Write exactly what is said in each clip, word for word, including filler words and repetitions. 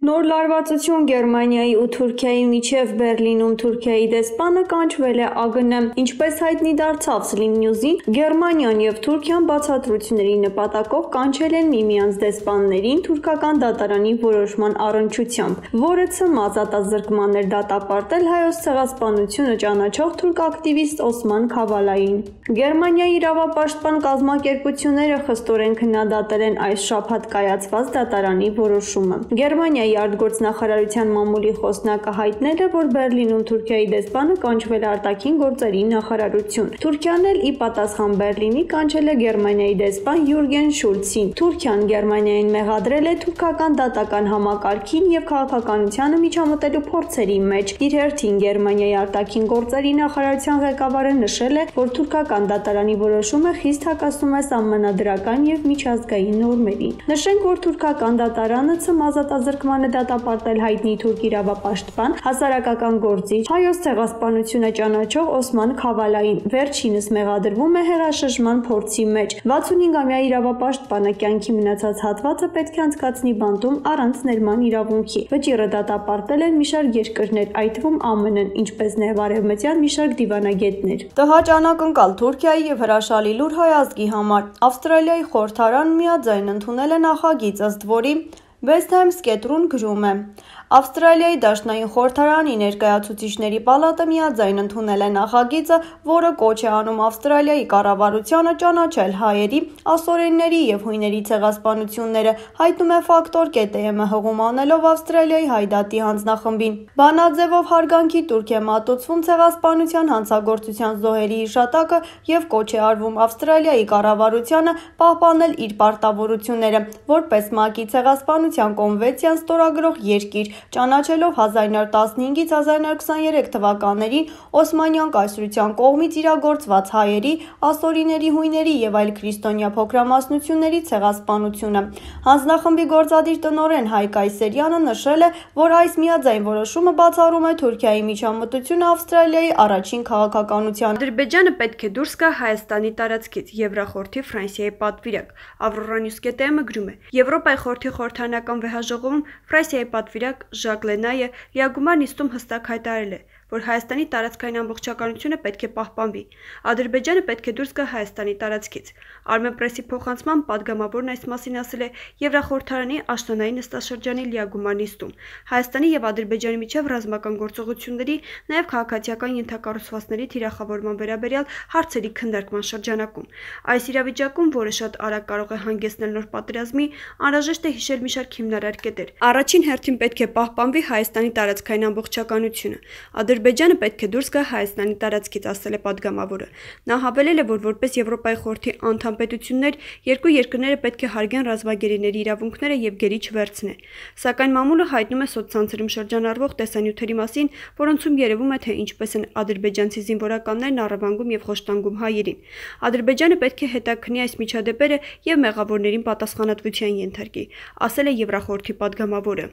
Նոր լարվածություն Գերմանիայի ու Թուրքիայի միջև Բերլինում Թուրքիայի դեսպանը կանչվել է ԱԳՆ։ Ինչպես հայտնի դարձավ Sling News-ին, Գերմանիան եւ Թուրքիան բացատրությունների նպատակով կանչել են միմյանց դեսպաններին թուրքական դատարանի որոշման առնչությամբ, որը ցմաց ատազրկման էր դատապարտել Հայոց ցեղասպանությունը ճանաչող թուրք ակտիվիստ Օսման Քավալային։ Գերմանիայի իրավապաշտպան կազմակերպությունները խստորեն քննադատել են այս շաբաթ կայացված դատարանի որոշումը։ Գերմանիայի արտգործնախարարության մամուլի խոսնակը հայտնել է, որ Բերլինում Թուրքիայի դեսպանը կանչվել է արտաքին գործերի նախարարություն։ Թուրքիան էլ ի պատասխան Բերլինի կանչել է Գերմանիայի դեսպան Յուրգեն Շուլցին։ Թուրքիան Գերմանիային մեղադրել է թուրքական դատական համակարգին եւ քաղաքականությանը միջամտելու փորձերի մեջ։ Իր հերթին Գերմանիայի արտաքին գործերի նախարարության ղեկավարը նշել է, որ թուրքական դատարանի որոշումը խիստ հակասում է սահմանադրական եւ միջազգային նորմերին։ Նշենք, որ թուրքական դատարանը ցմազ ատազրկման է դատապարտել հայտնի թուրք իրավապաշտպան, հասարակական գործիչ, Հայոց ցեղասպանությունը ճանաչող Օսման Քավալային։ Վերջինս մեղադրվում է հեղաշրջման փորձի մեջ։ վաթսունհինգամյա իրավապաշտպանը կյանքի մնացած հատվածը պետք է անցկացնի բանտում առանց ներման իրավունքի։ Վճիռը դատապարտել են մի շարք երկրներ, այդ թվում ԱՄՆ-ն, ինչպես նաև արևմտյան մի շարք դիվանագետներ։ Տհաճ անակնկալ Թուրքիայի եւ հրաշալի լուր հայ ազգի համար։ Ավստրալիայի խորհրդարան միաձայն ընդունել է նախագիծ, ըստ որի West Times կետրուն գրում է. Ավստրալիայի դաշնային խորհրդարանի ներկայացուցիչների պալատը միաձայն ընդունել է նախագիծը, որը կոչ է անում Ավստրալիայի կառավարությանը ճանաչել հայերի, ասորենների եւ հույների ցեղասպանությունները, հայտնում է Ֆակտոր կետ-ը հղում անելով Ավստրալիայի հայդատի հանձնախմբին։ Բանաձևով հարգանքի տուրք է մատուցվում ցեղասպանության հանցագործության զոհերի հիշատակը եւ կոչ է արվում Ավստրալիայի կառավարությանը պահպանել իր պարտավորությունները, որպես ՄԱԿ-ի ցեղասպանության կոնվենցիան ստորագրող երկիր, ճանաչելով հազար նոր տասնհինգից հազար նոր քսաներեք թվականներին Օսմանյան կայսրության կողմից իրագործված հայերի, ասորիների, հույների եւ այլ քրիստոնյա փոքրամասնությունների ցեղասպանությունը։ Հանձնախմբի գործադիր տնօրեն Հայկ Այսերյանը նշել է, որ այս միաձայն որոշումը բացառում է Թուրքիայի միջամտությունը Ավստրալիայի առաջին քաղաքականության։ Ադրբեջանը պետք է դուրս գա Հայաստանի տարածքից, Եվրախորհրդի Ֆրանսիայի պատվիրակ։ Ավրորա Նյուս կետ-ը գրում է. Եվրոպայի խորհրդի խորհրդարանական վեհաժողովում Ֆրանսիայի պատվիրակ Ժակ Լենայը լիագումար նիստում հստակ հայտարարել է, որ Հայաստանի տարածքային ամբողջականությունը պետք է պահպանվի։ Ադրբեջանը պետք է դուրս գա Հայաստանի տարածքից։ Armenpress-ի փոխանցման падգամավորն այս մասին ասել է Եվրախորհրդարանի աշնանային նստաշրջանի լիագումար նիստում։ Հայաստանի եւ Ադրբեջանի միջև ռազմական գործողությունների, նաեւ քաղաքացիական ենթակառուցվածքների թիրախավորման վերաբերյալ հարցերի քննարկման շրջանակում։ Այս իրավիճակում, որը շատ արագ կարող է հանգեցնել նոր պատերազմի, անհրաժեշտ է հիշել մի շարք հիմնարար կետեր։ Առաջին հերթին պետք է պահպանվի Հայաստանի տարածքային ամբողջականությունը։ Ադրբեջանը պետք է դուրս գա Հայաստանի տարածքից, ասել է падգամավորը։ Նա հավելել է, որ որպես Եվրոպայի խորհրդի անդամ պետություններ երկու երկրները պետք է հարգեն ռազմագերիների իրավունքները եւ գերի չվերցնեն։ Սակայն մամուլը հայտնում է սոցցանցերում շրջանառվող տեսանյութերի մասին, որոնցում երևում է, թե ինչպես են ադրբեջանցի զինվորականներն առևանգում եւ խոշտանգում հայերին։ Ադրբեջանը պետք է հետաքննի այս միջադեպերը եւ մեղավորներին պատասխանատվության ենթարկի, ասել է Եվրախորհրդի падգամավորը։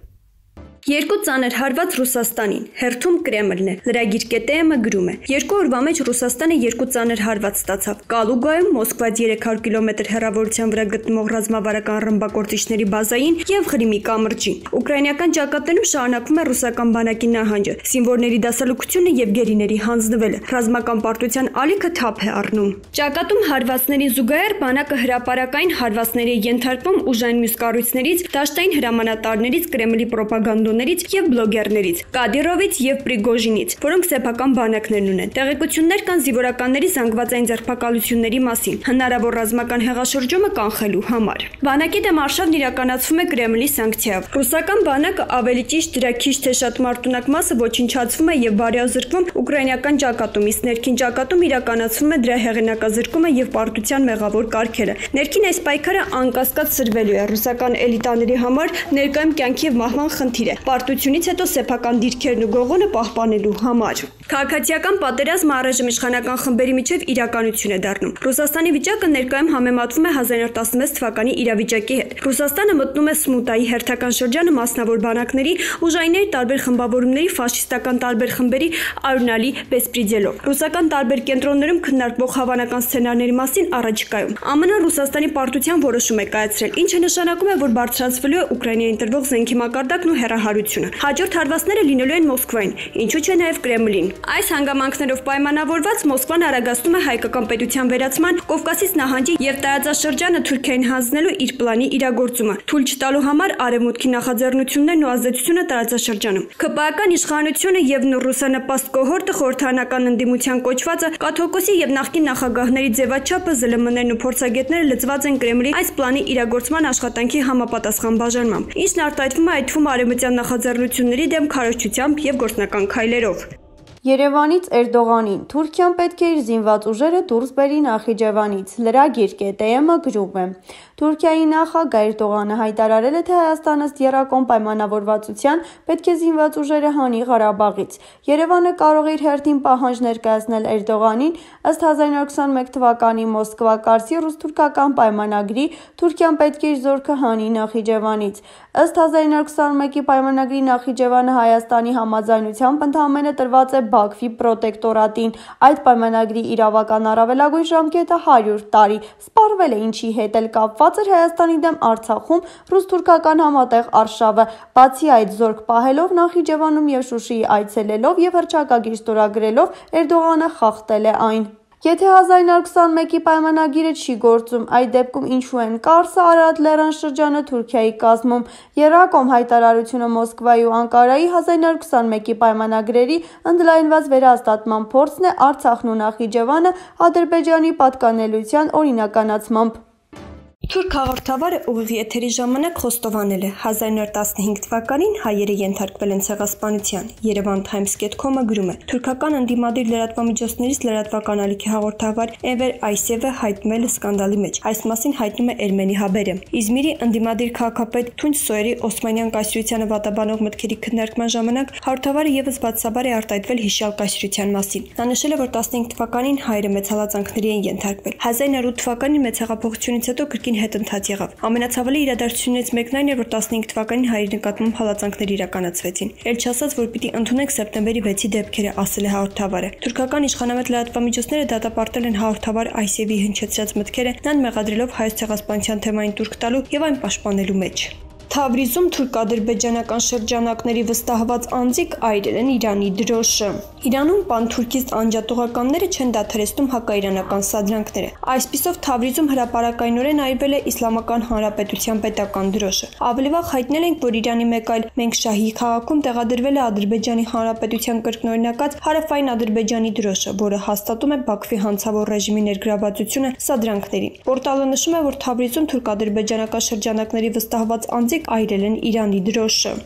Երկու ծանր հարված Ռուսաստանին, հերթում Կրեմլն է։ Լրագիր կետ-ը գրում է. Երկու օրվա մեջ Ռուսաստանը երկու ծանր հարված ստացավ։ Կալուգայում Մոսկվայից երեք հարյուր կիլոմետր հեռավորության վրա գտնվող ռազմավարական ռմբակոծիչների բազային եւ Ղրիմի կամրջին։ Ուկրաինական ճակատներում շարունակվում է ռուսական բանակի նահանջը, զինվորների դասալուկությունը եւ գերիների հանձնվելը։ Ռազմական պարտության ալիքը թափ է առնում։ Ճակատում հարվածներին զուգահեռ բանակը հրապարակային հարվածների է ենթարկվում ուժային մյուս կառույցներից, դաշտային հրամանատարներից, Կրեմլի պրոպագանդոներից եւ բլոգերներից, Կադիրովից եւ Պրիգոժինից, որոնք սեփական բանակներն ունեն։ Տեղեկություններ կան զինվորականների զանգվածային ձերբակալությունների մասին, հնարավոր ռազմական հեղաշրջումը կանխելու համար։ Բանակի դեմ արշավն իրականացվում է Կրեմլի սանկցիայով։ Ռուսական բանակը ավելի ճիշտ դրա քիչ թե շատ մարտունակ մասը ոչնչացվում է եւ բարեազրկվում ուկրաինական ճակատում, իսկ ներքին ճակատում իրականացվում է դրա հեղինակազրկումը եւ պարտության մեղավոր կարգերը։ Ներքին այս պայքարը անկասկած սրվելու է ռուսական էլիտաների համար ներկայում կյանքի եւ մահվան խնդիր է։ Պարտությունից հետո սեփական դիրքերն ու գողոնը պահպանելու համար։ Քաղաքացիական պատերազմը առայժմ իշխանական խմբերի միջև իրականություն է դառնում։ Ռուսաստանի վիճակը ներկայում համեմատվում է հազար նորը տասնվեց թվականի իրավիճակի հետ։ Ռուսաստանը մտնում է Սմուտայի հերթական շրջանը մասնավոր բանակների, ուժայինների տարբեր խմբավորումների, ֆաշիստական տարբեր խմբերի արյունալի բեսպրիդելով։ Ռուսական տարբեր կենտրոններում քննարկվող հավանական սցենարների մասին առաջիկայում Ամն Ռուսաստանի պարտության որոշում է կայացրել, ինչը նշանակում է, որ բարձրացվելու է Ուկրաինային տրվող զենքի մակարդակն ու հեռահարությունը։ Հաջորդ հարվածները լինելու են Մոսկվային, ինչու՞ չէ նաև Կրեմլին։ Այս հանգամանքներով պայմանավորված Մոսկվան արագացնում է հայկական պետության վերացման, Կովկասից նահանջի եւ տարածաշրջանը Թուրքիային հանձնելու իր պլանի իրագործումը, թույլ չտալու համար արևմուտքի նախաձեռնություններն ու ազդեցությունը տարածաշրջանում։ ՔՊԱ-ական իշխանությունը եւ ռուսանպաստ կոհորտը խորհրդանական ընդդիմության կոչվածը Կաթողիկոսի եւ նախկին նախագահների ձևաչափը ԶԼՄ-ներն ու փորձագետները լծված են Կրեմլի այս պլանի իրագործման աշխատանքի համապատասխան բաժանմամբ, ինչն արտահայտվում է այդ թվում արևմտյան նախաձեռնությունների դեմ քարոզչությամբ եւ գործնական քայլերով։ Երևանից Էրդողանին Թուրքիան պետք է իր զինված ուժերը դուրս բերի Նախիջևանից։ Լրագիր ԿՏՄ գրում է. Թուրքիայի նախագահ Էրդողանը հայտարարել է, թե Հայաստանը ըստ եռակողմ պայմանավորվածության պետք է զինված ուժերը հանի Ղարաբաղից։ Երևանը կարող է իր հերթին պահանջ ներկայացնել Էրդողանին ըստ հազար նորը քսաներկու թվականի Մոսկվա կարգի ռուս-թուրքական պայմանագրի Թուրքիան պետք է իր զորքը հանի Նախիջևանից։ Ըստ հազար նորը քսաներկու պայմանագրի Նախիջևանը Հայաստանի համաձայնությամբ ընդամենը տրված է Բաքվի պրոտեկտորատին։ Այդ պայմանագրի իրավական առավելագույն ժամկետը հարյուր տարի։ Սպառվել է, ինչի հետ էլ կապված էր Հայաստանի դեմ Արցախում ռուս-թուրքական համատեղ արշավը։ Բացի այդ, զորք պահելով Նախիջևանում եւ Շուշիի այցելելով եւ հռչակագիր ստորագրելով Էրդողանը խախտել է այն։ Եթե հազար նորը քսաներկու պայմանագիրը չի գործում, այդ դեպքում ինչու են Կարսը, Արարատ լեռան շրջանը Թուրքիայի կազմում։ Եռակողմ հայտարարությունը Մոսկվայի ու Անկարայի հազար նորը քսաներկու պայմանագրերի ընդլայնված վերահաստատման փորձն է Արցախն ու Նախիջևանը Ադրբեջանի պատկանելիության օրինականացմամբ։ Թուրք հաղորդավարը ուղիղ եթերի ժամանակ խոստովանել է հազար նորը տասնհինգ թվականին հայերը ենթարկվել են ցեղասպանության։ Երևան Times dot com-ը գրում է. Թուրքական ընդդիմադիր լրատվամիջոցներից լրատվական ալիքի հաղորդավար Էվեր Այսևը հայտնվել է սկանդալի մեջ։ Այս մասին հայտնում է Էրմենի Հաբերը։ Իզմիրի ընդդիմադիր քաղաքապետ Թունչ Սոյերի Օսմանյան կայսրությանը վատաբանող մտքերի քննարկման ժամանակ հաղորդավարը եւս բացասաբար է արտահայտվել հիշյալ կայսրության մասին։ Նա նշել է, որ տասնհինգ թվականին հայերը մեծ հալածանքների են ենթարկվել։ հազար նորը ութ թվականին մեծ հեղափոխությունից հետո կրկին հետընթաց եղավ։ Ամենացավալի իրադարձություններից մեկն այն էր, որ տասնհինգ թվականին հայերի նկատմամբ հալածանքներ իրականացվեցին։ Էլ չասած, որ պիտի ընդունենք սեպտեմբերի վեցի դեպքերը, ասել է հաղորդավարը։ Թուրքական իշխանամետ լրատվամիջոցները դատապարտել են հաղորդավար Այսևի հնչեցրած մտքերը, նրան մեղադրելով հայոց ցեղասպանության թեմային տուրք տալու եւ այն պաշտպանելու մեջ։ Թավրիզում թուրք-ադրբեջանական շրջանակների վստահված անձիկ այրել են Իրանի դրոշը։ Իրանում պանթուրքիստ անջատողականները չեն դադարեցնում հակաիրանական սադրանքները։ Այսպիսով Թավրիզում հրապարակայնորեն այրվել է Իսլամական Հանրապետության պետական դրոշը։ Ավելի վաղ հայտնել ենք, որ Իրանի մեկ այլ Մենքշահի քաղաքում տեղադրվել է Ադրբեջանի Հանրապետության կրկնօրինակած հարավային Ադրբեջանի դրոշը, որը հաստատում է Բաքվի հանցավոր ռեժիմի ներգրավվածությունը սադրանքներին։ Պորտալը նշում է, որ Թավրիզում թուրք-ադրբեջանական շրջանակների վստահված անձիկ այրել են Իրանի դրոշը։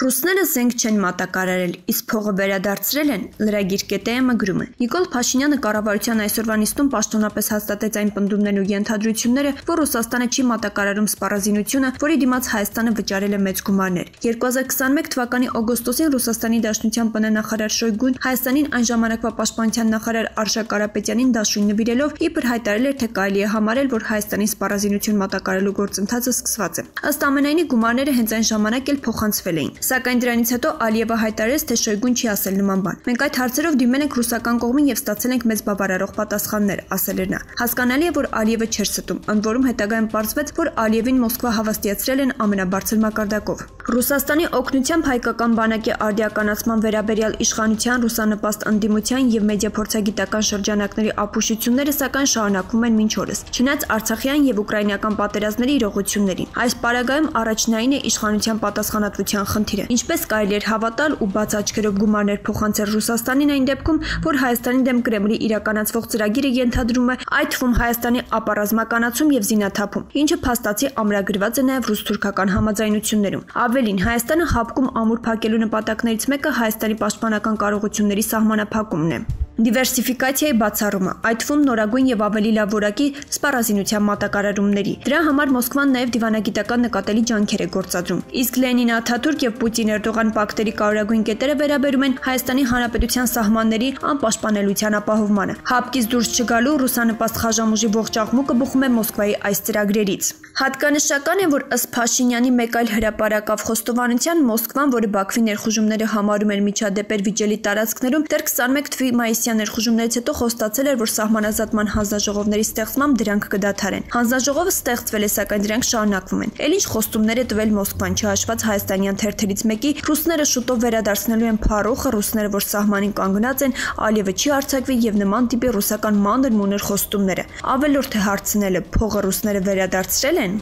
Ռուսները զենք չեն մատակարարել, իսկ փողը վերադարձրել են, լրագիր ԿՏՄ գրում է։ Նիկոլ Փաշինյանը կառավարության այսօրվա նիստում պաշտոնապես հաստատեց այն պնդումներն ու ենթադրությունները, որ Ռուսաստանը չի մատակարարում սպառազինությունը, որի դիմաց Հայաստանը վճարել է մեծ գումարներ։ երկու հազար քսաներկու թվականի օգոստոսին Ռուսաստանի Դաշնության ՊՆ-նախարար Շոյգուն Հայաստանին այն ժամանակվա պաշտպանության նախարար Արշակ Կարապետյանին դաշույն նվիրելով իբր հայտարարել էր, թե կարելի է համարել, որ Հայաստանի սպառազինություն մատակարարելու գործընթացը սկսված է։ Ըստ ամենայնի գումարները հենց այն ժամանակ էլ փոխանցվել էին։ Սակայն դրանից հետո Ալիևը հայտարարեց, թե Շոյգուն չի ասել նման բան։ Մենք այդ հարցերով դիմել ենք ռուսական կողմին եւ ստացել ենք մեծ բավարարող պատասխաններ, ասել էր նա։ Հասկանալի է, որ Ալիևը չէր ստում, ընդ որում հետագայում պարզվեց, որ Ալիևին Մոսկվա հավաստիացրել են ամենաբարձր մակարդակով։ Ռուսաստանի օգնությամբ հայկական բանակի արդիականացման վերաբերյալ իշխանության, ռուսանպաստ ընդդիմության եւ մեդիա փորձագիտական շրջանակների ապուշությունները սակայն շարունակվում են մինչ օրս։ Չնայած Արցախյան եւ ուկրաինական պատերազմների իրողություններին, այս պարագայում առաջնային է իշխանության պատասխանատվության խնդիրը։ Ինչպես կարելի էր հավատալ ու բաց աչքերով գումարներ փոխանցել Ռուսաստանին այն դեպքում, որ Հայաստանի դեմ Կրեմլի իրականացվող ծրագիրը ենթադրում է այդ թվում Հայաստանի ապառազմականացում եւ զինաթափում, ինչը փաստացի ամրագրված է նաեւ ռուս-թուրքական համաձայնություններում։ Ավելին, Հայաստանը հապկում ամուր փակելու նպատակներից մեկը Հայաստանի պաշտպանական կարողությունների սահմանափակումն է։ դիվերսիֆիկացիայի բացառումը, այդ թվում նորագույն եւ ավելի լավ որակի սպառազինության մատակարարումների։ Դրա համար Մոսկվան նաեւ դիվանագիտական նկատելի ջանքեր է գործադրում։ Իսկ Լենին, Աթաթուրք եւ Պուտին-Էրդողան պակտերի կարևորագույն կետերը վերաբերում են Հայաստանի Հանրապետության սահմանների անպաշտպանելիության ապահովմանը։ Հապկից դուրս չգալու ռուսանպաստ խաժամուժի ողջ աղմուկը բխում է Մոսկվայի այս ծրագրերից։ Հատկանշական է, որ ըստ Փաշինյանի մեկ այլ հրապարակավ խոստովանության Մոսկվան, որը Բաքվի ներխուժումները համարում էր միջադեպեր վիճելի տարածքներում, դեռ քսաներեք թվականի մայիսյան ներխուժումներից հետո խոստացել էր, որ սահմանազատման հանձնաժողովների ստեղծմամբ դրանք կդադարեն։ Հանձնաժողովը ստեղծվել է, սակայն դրանք շարունակվում են։ Էլ ինչ խոստումներ է տվել Մոսկվան, չհաշված հայաստանյան թերթերից մեկի, ռուսները շուտով վերադարձնելու են Փարոխը, ռուսները, որ սահմանին կանգնած են, Ալիևը չի արձակվի եւ նման տիպի ռուսական մանր մուներ խոստումները։ Ավելորդ է հարցնելը, փողը ռուսները վերադարձրել են։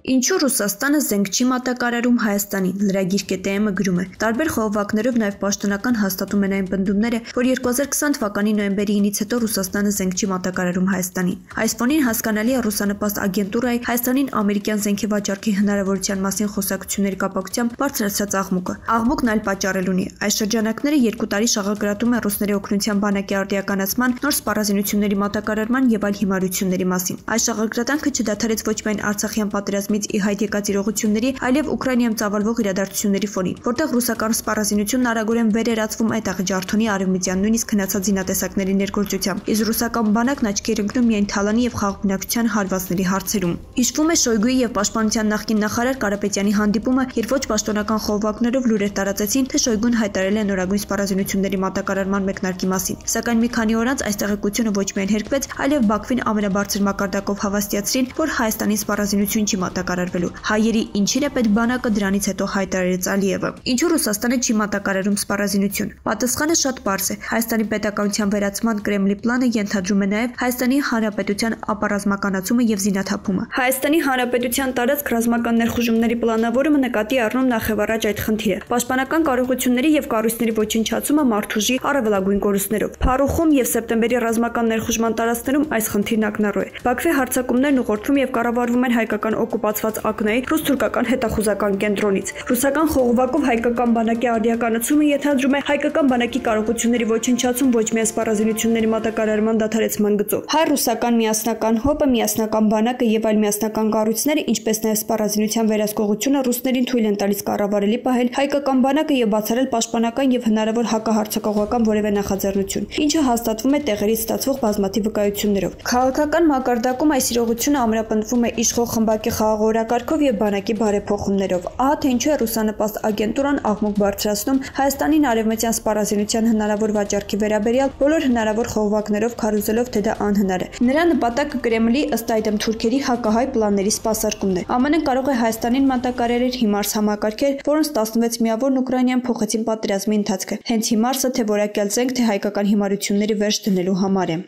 Ինչու Ռուսաստանը զենք չի մատակարարում Հայաստանին, լրագիր կետը գրում է։ Տարբեր խողովակներով նաև պաշտոնական հաստատում են այն պնդումները, որ երկու հազար քսան թվականի նոյեմբերի ինից հետո Ռուսաստանը զենք չի մատակարարում Հայաստանին։ Այս ֆոնին հասկանալի է ռուսանպաստ ագենտուրայի Հայաստանին ամերիկյան զենքի վաճառքի հնարավորության մասին խոսակցությունների կապակցությամբ բարձրացած աղմուկը։ Աղմուկն այլ պատճառ ունի։ Այս շրջանակները երկու տարի շաղագրատում են ռուսների օգնության բանակի արդիականացման, նոր սպառազինությունների մատակարարման եւ այլ հիմարությունների մասին։ Այս շաղագրատանքը չդադարեց ոչ միայն Արցախյան պատերազմի ի հայտ եկած իրողությունների, այլև Ուկրաինայում ծավալվող իրադարձությունների ֆոնին, որտեղ ռուսական սպառազինությունն արագորեն վերերացվում այդ աղջարթոնի արևմտյան նույնիսկ հնացած զինատեսակների ներգործությամբ, իսկ ռուսական բանակն աչքի էր ընկնում միայն Թալանի եւ խաղաղբնակության հարվածների հարցերում։ Հիշվում է Շոյգուի եւ Պաշտպանության նախկին նախարար Կարապետյանի հանդիպումը, երբ ոչ պաշտոնական խողովակներով լուրեր տարածեցին, թե Շոյգուն հայտարարել է նորագույն սպառազինությունների մատակարարման մեկնարկի մասին։ Սակայն մի քանի օր անց այս տեղեկությունը ոչ միայն հերկվեց, այլև Բաքվին ամենաբարձր մակարդակով հավաստիացրին, որ Հայաստանի սպառազինություն չի մատակարարվելու։ Հայերի ինչին է պետք բանակը, դրանից հետո հայտարարեց Ալիևը։ Ինչու Ռուսաստանը չի մատակարարում սպառազինություն։ Պատասխանը շատ պարզ է։ Հայաստանի պետականության վերացման Կրեմլի պլանը ենթադրում է նաև Հայաստանի Հանրապետության ապառազմականացումը եւ զինաթափումը։ Հայաստանի Հանրապետության տարածք ռազմական ներխուժումների պլանավորումը նկատի առնում նախևառաջ այդ խնդիրը։ Պաշտպանական կարողությունների եւ կառույցների ոչնչացումը մարդուժի առավելագույն կորուստներով։ Փարոխում եւ սեպտեմբերի ռազմական ներխուժման տարածքներում այս խնդիրն ակնառու է։ Բաքվի հարձակումներն ուղղորդվում եւ կառավարվում են հայկական օկուպացված ակնայի ռուս-թուրքական հետախուզական կենտրոնից։ Ռուսական խողովակով հայկական բանակի արդիականացումը ենթադրում է հայկական բանակի կարողությունների ոչնչացում ոչ միայն սպառազինությունների մատակարարման դադարեցման գծով։ Հայ-ռուսական միասնական հոպը, միասնական բանակը եւ այլ միասնական կառույցները, ինչպես նաեւ սպառազինության վերահսկողությունը ռուսներին թույլ են տալիս կառավարելի պահել հայկական բանակը եւ բացառել պաշտպանական եւ հնարավոր հակահարձակողական որևէ նախաձեռնություն, ինչը հաստատվում է տեղերից ստացվող բազմաթիվ վկայություններով։ Քաղաքական մակարդակում այս իրողությունը ամրապնդվում է իշխող խմբակի խաղաղ օրակարգով եւ բանակի բարեփոխումներով։ Ահա թե ինչու է ռուսանպաստ ագենտուրան աղմուկ բարձրացնում Հայաստանին արևմտյան սպառազինության հնարավոր վաճառքի վերաբերյալ բոլոր հնարավոր խողովակներով քարոզելով, թե դա անհնար է։ Նրա նպատակը Կրեմլի ըստ այդմ թուրքերի հակահայ պլանների սպասարկումն է։ ԱՄՆ-ն կարող է Հայաստանին մատակարարել հիմարս համակարգեր, որոնց տասնվեց միավոր Ուկրաինայում փոխեցին պատերազմի ընթացքը։ Հենց հիմարսը թե որակյալ զենք, թե հայկական հիմարությունների վերջ դնելու համար է։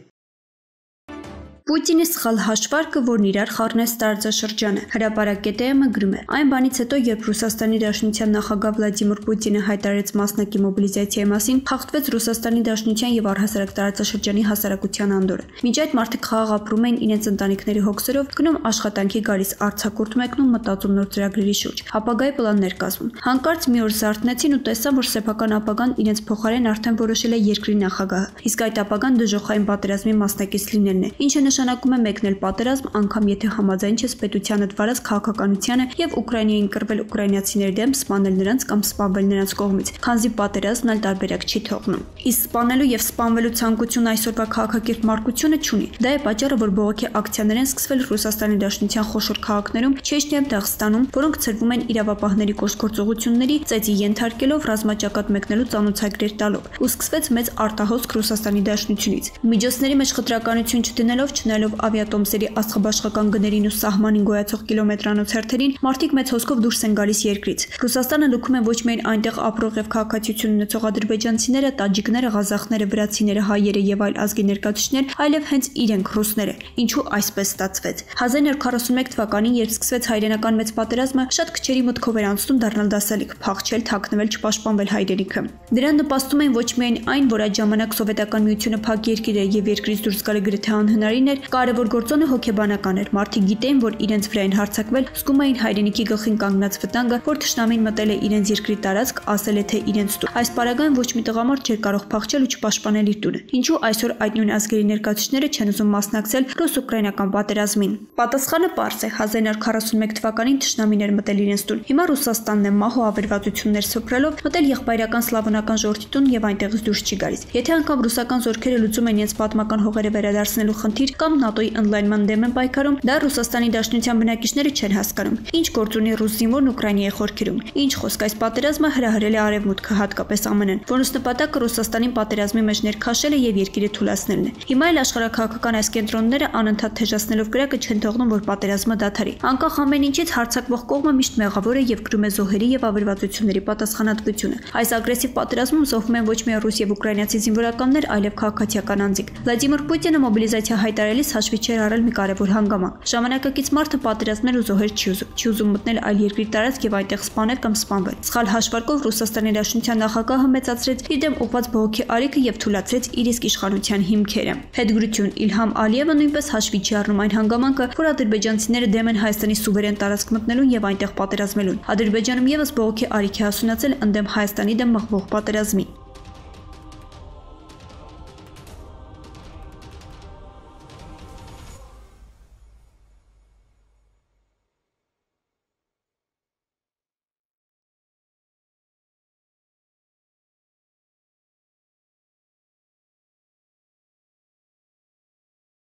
Պուտինի սխալ հաշվարկը, որն իրար խառնեց տարածաշրջանը։ Հրապարակետը գրում է. Այն բանից հետո, երբ Ռուսաստանի Դաշնության նախագահ Վլադիմիր Պուտինը հայտարարեց մասնակի մոբիլիզացիայի մասին, խախտվեց Ռուսաստանի Դաշնության եւ առհասարակ տարածաշրջանի հասարակության անդորը։ Մինչ այդ մարդիկ խաղաղ ապրում էին իրենց ընտանիքների հոգսերով, գնում աշխատանքի գալիս, արձակուրդ մեկնում, մտածում նոր ծրագրերի շուրջ, ապագայի պլաններ կազմում։ Հանկարծ մի օր զարթնեցին ու տեսան, որ սեփական ապագան իրենց փոխարեն արդեն որոշել է երկրի նախագահը, իսկ այդ ապագան դժոխային պատերազմի մասնակից լինելն է, ինչը նշանակում է մեկնել պատերազմ, անգամ եթե համաձայն չես պետությանդ վարած քաղաքականությանը եւ Ուկրաինային կռվել ուկրաինացիների դեմ, սպանել նրանց կամ սպանվել նրանց կողմից, քանզի պատերազմն այլ տարբերակ չի թողնում։ Իսկ սպանելու եւ սպանվելու ցանկությունը այսօրվա քաղաքակիրթ մարգությունը չունի։ Դա է պատճառը, որ բողոքի ակցիաներ են սկսվել Ռուսաստանի Դաշնության խոշոր քաղաքներում, Չեչնիայում, Դաղստանում, որոնք ցրվում են իրավապահների կոշկործողությունների, ծեծի ենթարկելով, ռազմաճակատ մեկնելու ծանոթագրեր տալով։ Ու սկսվեց մեծ արտահոսք Ռուսաստանի Դաշնությունից։ Միջոցների մեջ խտրականություն չդնելով, չնայելով ավիատոմսերի աստղաբաշխական գներին ու սահմանին գոյացող կիլոմետրանոց հերթերին, մարդիկ մեծ հոսքով դուրս են գալիս երկրից։ Ռուսաստանը լքում է ոչ միայն այնտեղ ապրող եւ քաղաքացիություն ունեցող ադրբեջանցիները, տաջիկները, ղազախները, վրացիները, հայերը եւ այլ ազգի ներկայացուցիչներ, այլև հենց իրենք ռուսները։ Ինչու այսպես ստացվեց։ հազար նոր քառասունմեկ թվականին, երբ սկսվեց հայրենական մեծ պատերազմը, շատ քչերի մտքով էր անցնում դառնալ դասալիկ, փախչել, թաքնվել, չպաշտպանվել հայրենիքը։ Դրան նպաստում էին ոչ միայն այն, որ այդ ժամանակ սովետական միությունը փակ երկիր էր եւ երկրից դուրս գալը գրեթե անհնարին էր, էր, կարևոր գործոնը հոգեբանական էր։ Մարդիկ գիտեին, որ իրենց վրա են հարձակվել, զգում էին հայրենիքի գլխին կանգնած վտանգը, որ թշնամին մտել է իրենց երկրի տարածք, ասել է թե իրենց տուն։ Այս պարագայում ոչ մի տղամարդ չէր կարող փախչել ու չպաշտպանել իր տունը։ Ինչու այսօր այդ նույն ազգերի ներկայացուցիչները չեն ուզում մասնակցել ռուս-ուկրաինական պատերազմին։ Պատասխանը պարզ է։ հազար իննսուն քառասունմեկ թվականին թշնամին էր մտել իրենց տուն։ Հիմա Ռուսաստանն է մահ ու ավերվածություններ սփռելով մտել եղբայրական սլավոնական ժողովրդի տուն եւ այնտեղից դուրս չի գալիս։ Եթե անգամ ռուսական զորքերը լուծում են իրենց պատմական հողերը վերադարձնելու խնդիր կամ ՆԱՏՕ-ի ընդլայնման դեմ են պայքարում, դա Ռուսաստանի Դաշնության բնակիչները չեն հասկանում։ Ինչ գործ ունի ռուս զինվորն Ուկրաինայի խորքերում։ Ինչ խոսք, այս պատերազմը հրահրել է Արևմուտքը, հատկապես ԱՄՆ-ն, որոնց նպատակը Ռուսաստանին պատերազմի մեջ ներքաշելը եւ երկիրը թուլացնելն է։ Հիմա էլ աշխարհաքաղաքական այս կենտրոնները անընդհատ թեժացնելով կրակը չեն թողնում, որ պատերազմը դադարի։ Անկախ ամեն ինչից հարձակվող կողմը միշտ մեղավոր է եւ կրում է զոհերի եւ ավերվածությունների պատասխանատվությունը։ Այս ագրեսիվ պատերազմում զոհվում են ոչ միայն ռուս եւ ուկրաինացի զինվորականներ, այլև քաղաքացիական անձիկ։ Վլադիմիր Պուտինը մոբիլիզացիա հայտարարելիս հաշվի չէր առել մի կարևոր հանգամանք։ Ժամանակակից մարդը պատերազմներ ու զոհեր չի ուզում, չի ուզում մտնել այլ երկրի տարածք եւ այնտեղ սպանել կամ սպանվել։ Սխալ հաշվարկով Ռուսաստանի Դաշնության նախագահը մեծացրեց իր դեմ ուղղված բողոքի արիքը եւ թույլատրեց իր իսկ իշխանության հիմքերը։ Հետգրություն Իլհամ Ալիևը նույնպես հաշվի չի առնում այն հանգամանքը, որ ադրբեջանցիները դեմ են Հայաստանի սուվերեն տարածք մտնելուն եւ այնտեղ պատերազմելուն։ Ադրբեջանում եւս բողոքի արիք է հասունացել ընդդեմ Հայաստանի դեմ մղվող պատերազմի։